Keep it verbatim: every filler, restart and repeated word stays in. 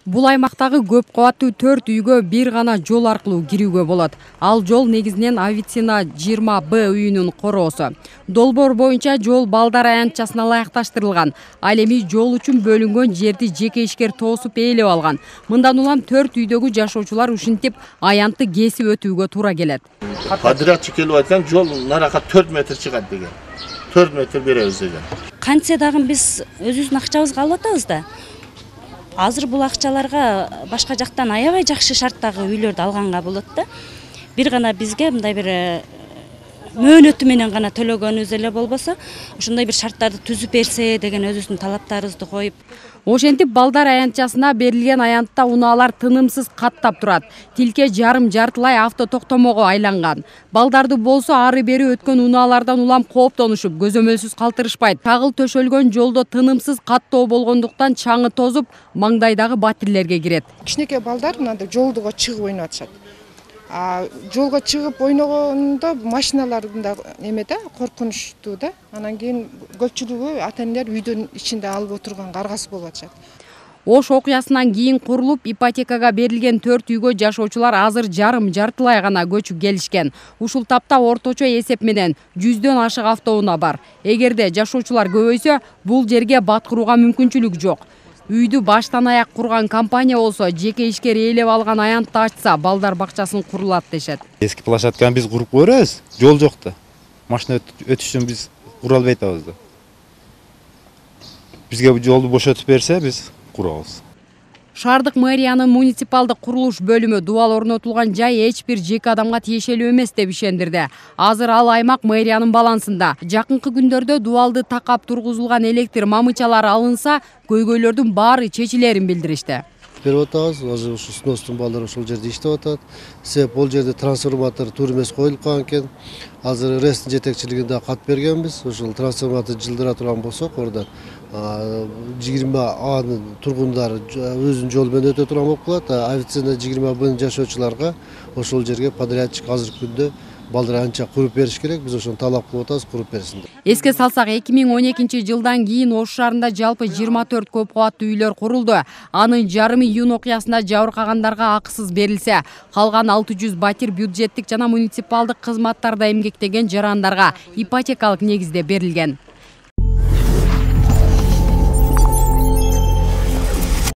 Бул аймактагы көп кабаттуу төрт үйгө бир гана жол аркылуу кирүүгө болот. Ал жол негизинен Авицина жыйырма Б үйүнүн короосу. Долбоор боюнча жол балдар аянтчасына ылайыкташтырылган. Ал эми жол үчүн бөлүнгөн жерди жеке ишкер тоосуп ээлеп алган. Мындан улам төрт үйдөгү жашоочулар ушинтип аянтты кесип өтүүгө туура келет. Подрядчик келип айткан жол нарака төрт метр чыгат деген. төрт метр беребиз деген. Кантсе дагы биз өзүбүздүн акчабызга алып атабыз да. Азыр бул акчаларга башка жактан аябай жакшы шарттагы үйлөрдү алганга болот да. Бир гана бизге мындай бир мөөнөтү менен гана төлөгөнүбүз эле болбосо, ошондой бир шарттарды түзүп берсе деген өзүбүздүн талаптарыбызды коюп. Ошентип балдар аянтчасына берилген аянтта унаалар тынымсыз каттап турат. Тилке жарым жартылай авто токтомого айланган. Балдарды болсо ары бери өткөн унаалардан улам кооптонушуп, көзөмөлсүз калтырышпайт. Тагыл төшөлгөн жолдо тынымсыз каттоо болгондуктан чаңы тозуп, маңдайдагы батирлерге кирет. Кичинекей балдар мындай жолдуга чыгып ойноп атышат. А жолго чыгып ойногондо машиналардын да эме да коркунучтуу да. Анан кийин көпчүлүгү ата-энелер үйдөн ичинде алып отурган каргасы болуп атышат. Ош окуясынан кийин курулуп, ипотекага берилген төрт үйгө жашоочулар азыр жарым жартылай гана көчүп келишкен. Ушул тапта орточо эсеп менен жүздөн ашык автоунаа бар. Эгерде жашоочулар көбөйсө, бул жерге баткырууга мүмкүнчүлүк жок. Үйдү баштан аяк курган компания болсо, жеке ишкер ээлеп алган аянтты ачса, балдар бакчасын курулат дешет. Эски площадканы биз куруп көрөбүз, жол жок да. Машина өтүш үчүн биз кура албай атабыз да. Бизге бул жолду бошотуп берсе, биз курабыз. Шаардык мэриянын муниципалдык курулуш бөлүмү дубал орнотулган жай эч бир жеке адамга тиешелүү эмес деп ишендирди. Азыр ал аймак мэриянын балансында. Жакынкы күндөрдө дубалды такап тургузулган электр мамычалары алынса, көйгөйлөрдүн баары чечилерин билдиришти. Берип атабыз, азыр ушу сностун балдар ошол жерде иштеп атат. Себеп бул жерде трансформатор туура эмес коюлуп калган экен. Азыр РЭСтин жетекчилигинде кат бергенбиз. Ошол трансформатор жылдыра турган болсок, ордон жыйырма Анын тургундары өзүнүн жолу менен өтө турган болуп калат. Авицина жыйырма Бнын жашоочуларга ошол жерге подрядчик азыркы күндө балдар анча куруп бериш керек. Биз ошону талап кылып атабыз, куруп берсин деп. Эске салсак, эки миң он экинчи жылдан кийин Ош шаарында жалпы жыйырма төрт көп кабаттуу үйлөр курулду. Анын жарымы июнь окуясында жабыркагандарга акысыз берилсе, калган алты жүз батир бюджеттик жана муниципалдык кызматтарда эмгектеген жарандарга ипотекалык негизде берилген.